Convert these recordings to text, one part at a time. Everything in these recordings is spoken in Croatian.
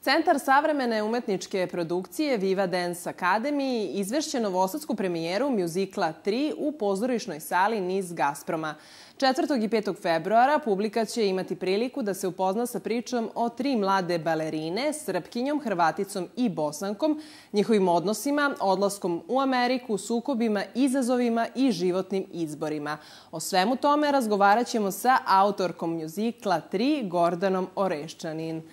Centar savremene umetničke produkcije Viva Dance Academy izvešće novosadsku premijeru mjuzikla 3 u pozorišnoj sali Niz Gasproma. 4. i 5. februara publika će imati priliku da se upozna sa pričom o 3 mlade balerine, Srpkinjom, Hrvaticom i Bosankom, njihovim odnosima, odlaskom u Ameriku, sukobima, izazovima i životnim izborima. O svemu tome razgovarat ćemo sa autorkom mjuzikla 3, Gordanom Oreščanin.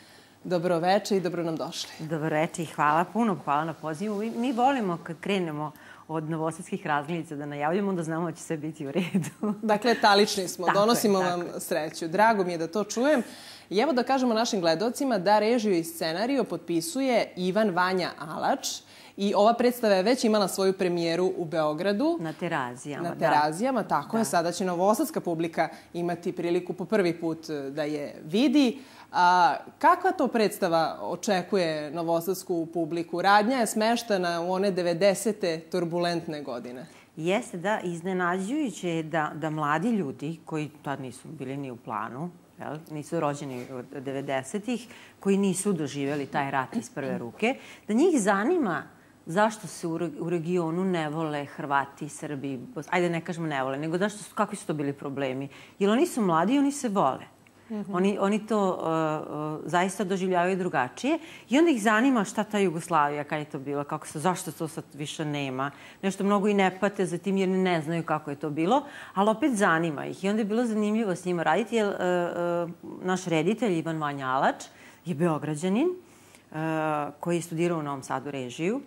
Dobroveče i dobro nam došli. Dobroveče i hvala puno, hvala na pozivu. Mi volimo kad krenemo od novosadskih razglednica da najavljamo, onda znamo da će sve biti u redu. Dakle, talični smo, donosimo vam sreću. Drago mi je da to čujem. I evo da kažemo našim gledalcima da režiju i scenariju potpisuje Ivan Vanja Alač. I ova predstava je već imala svoju premijeru u Beogradu. Na Terazijama, Na Terazijama, tako je. Sada će novosadska publika imati priliku po prvi put da je vidi. Kakva to predstava očekuje novosadsku publiku? Radnja je smeštana u one 90. turbulentne godine. Jeste, da, iznenađujuće je da mladi ljudi, koji tad nisu bili ni u planu, nisu rođeni od 90-ih, koji nisu doživjeli taj rat iz prve ruke, da njih zanima zašto se u regionu ne vole Hrvati, Srbi, ajde ne kažemo ne vole, nego kakvi su to bili problemi. Jer oni su mladi i oni se vole. Oni to zaista doživljavaju drugačije i onda ih zanima šta ta Jugoslavija, kada je to bilo, zašto to sad više nema. Nešto mnogo i ne pate za tim jer ne znaju kako je to bilo, ali opet zanima ih. I onda je bilo zanimljivo s njima raditi jer naš reditelj Ivan Vanja Alač je Beograđanin koji je studirao u Novom Sadu režiju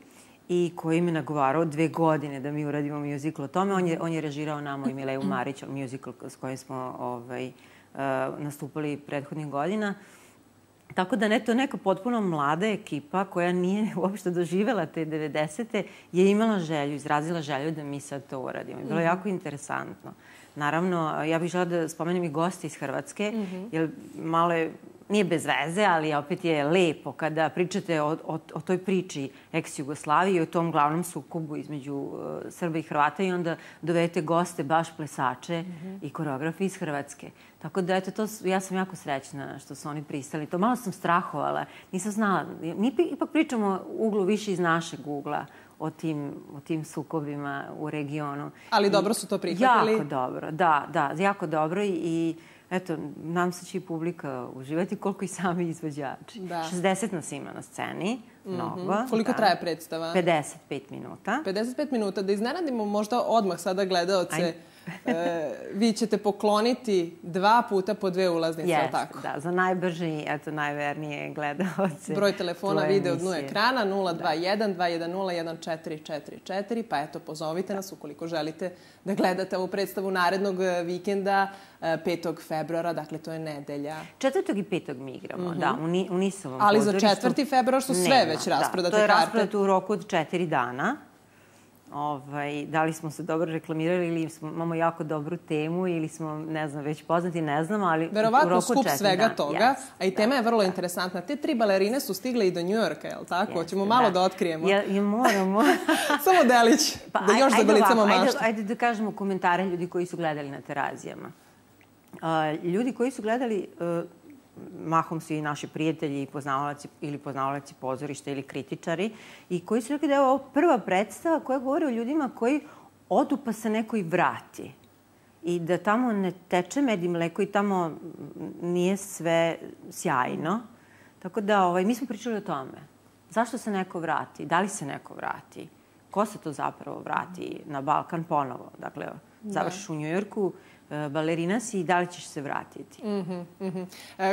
i koji mi je nagovarao 2 godine da mi uradimo mjuzikl o tome. On je režirao Namo i Mileju Marić, mjuzikl s kojim smo nastupali prethodnih godina. Tako da to neka potpuno mlada ekipa koja nije uopšte doživjela te 90. je imala želju, izrazila želju da mi sad to uradimo. Bilo je jako interesantno. Naravno, ja bih žela da spomenem i goste iz Hrvatske, jer malo je, nije bez veze, ali opet je lepo kada pričate o toj priči ex-Jugoslavije i o tom glavnom sukobu između Srba i Hrvata i onda dovedete goste, baš plesače i koreografe iz Hrvatske. Tako da, eto, ja sam jako srećna što su oni pristali. To malo sam strahovala, nisam znala. Mi ipak pričamo uglu više iz našeg ugla o tim sukobima u regionu. Ali dobro su to prihvatili? Jako dobro, da, jako dobro i eto, nam se će i publika uživati koliko i sami izvođači. 60 nas ima na sceni, mnogo. Koliko traje predstava? 55 minuta. 55 minuta. Da iznenadimo možda odmah sada gledaoce. Vi ćete pokloniti 2 puta po 2 ulaznice, je li tako? Da, za najbrže i najvernije gledaoce. Broj telefona vide u dnu ekrana 021 210 1444, pa eto, pozovite nas ukoliko želite da gledate ovu predstavu narednog vikenda 5. februara, dakle to je nedelja. 4. i 5. mi igramo, da, u Nisovom ali za 4. februar su sve već rasprodate karte. To je rasprodato u roku od 4 dana. Da li smo se dobro reklamirali ili imamo jako dobru temu ili smo, ne znam, već poznati, ne znam, ali verovatno skup svega toga, a i tema je vrlo interesantna. Te 3 balerine su stigle i do Njujorka, je li tako? Hoćemo malo da otkrijemo. Moramo. Samo delić, da još zagolicamo maštu. Ajde da kažemo komentare ljudi koji su gledali na Terazijama. Ljudi koji su gledali, mahom su i naši prijatelji i poznavalaci pozorišta ili kritičari i koji su rekli da je ovo prva predstava koja govori o ljudima koji odu pa se neko i vrati. I da tamo ne teče med i mleko i tamo nije sve sjajno. Tako da mi smo pričali o tome. Zašto se neko vrati? Da li se neko vrati? Ko se to zapravo vrati na Balkan ponovo? Dakle, završiš u Njujorku, balerina si i da li ćeš se vratiti?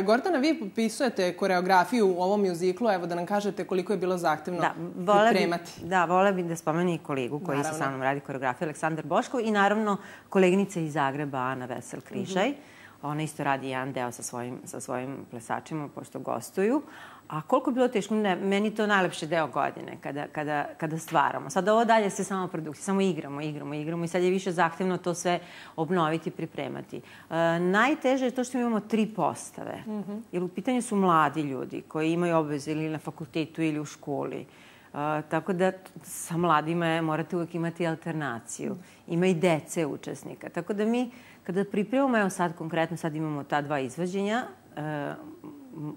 Gordana, vi potpisujete koreografiju u ovom mjuziklu. Evo da nam kažete koliko je bilo zahtevno pripremati. Da, volela bih da spomenu i kolegu koji se sa mnom radi koreografiju, Aleksandar Boškov i naravno koleginica iz Zagreba, Ana Vesel-Križaj. Ona isto radi jedan deo sa svojim plesačima, pošto gostuju. A koliko je bilo teško? Meni je to najlepši deo godine, kada stvaramo. Sad ovo dalje se samo produkcija, samo igramo i sad je više zahtevno to sve obnoviti i pripremati. Najteže je to što imamo 3 postave. Jer u pitanju su mladi ljudi koji imaju obveze ili na fakultetu ili u školi. Tako da sa mladima morate uvijek imati alternaciju. Ima i dece učesnika. Tako da mi, kada pripremamo, evo sad konkretno, sad imamo ta 2 izvođenja,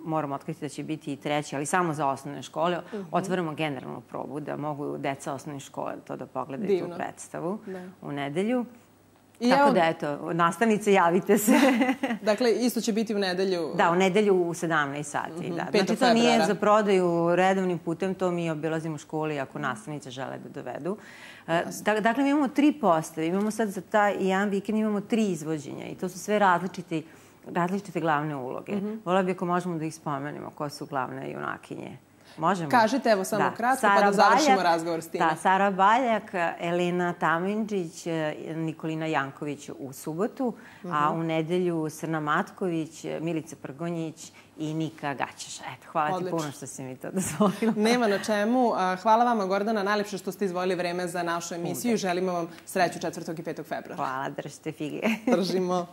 moram otkriti da će biti i 3. ali samo za osnovne škole. Otvaramo generalnu probu da mogu deca osnovne škole to da pogledaju tu predstavu u nedelju. Tako da, eto, nastavnice, javite se. Dakle, isto će biti u nedelju? Da, u nedelju u 17 sati. Znači, to nije za prodaju redovnim putem, to mi obilazimo školi ako nastavnice žele da dovedu. Dakle, mi imamo 3 postave. Imamo sad za taj jedan vikend imamo 3 izvođenja i to su sve različite glavne uloge. Vola bi ako možemo da ih spomenemo, ko su glavne junakinje. Možemo? Kažite, evo samo kratko, pa da završimo razgovor s time. Da, Sara Baljak, Elena Tamindžić, Nikolina Janković u subotu, a u nedelju Srna Matković, Milica Prgonjić i Nika Gaćeša. Eto, hvala ti puno što si mi to dozvolila. Nema na čemu. Hvala vama, Gordana, najlepše što ste izdvojili vreme za našu emisiju i želimo vam sreću 4. i 5. februara. Hvala, držite fige. Držimo.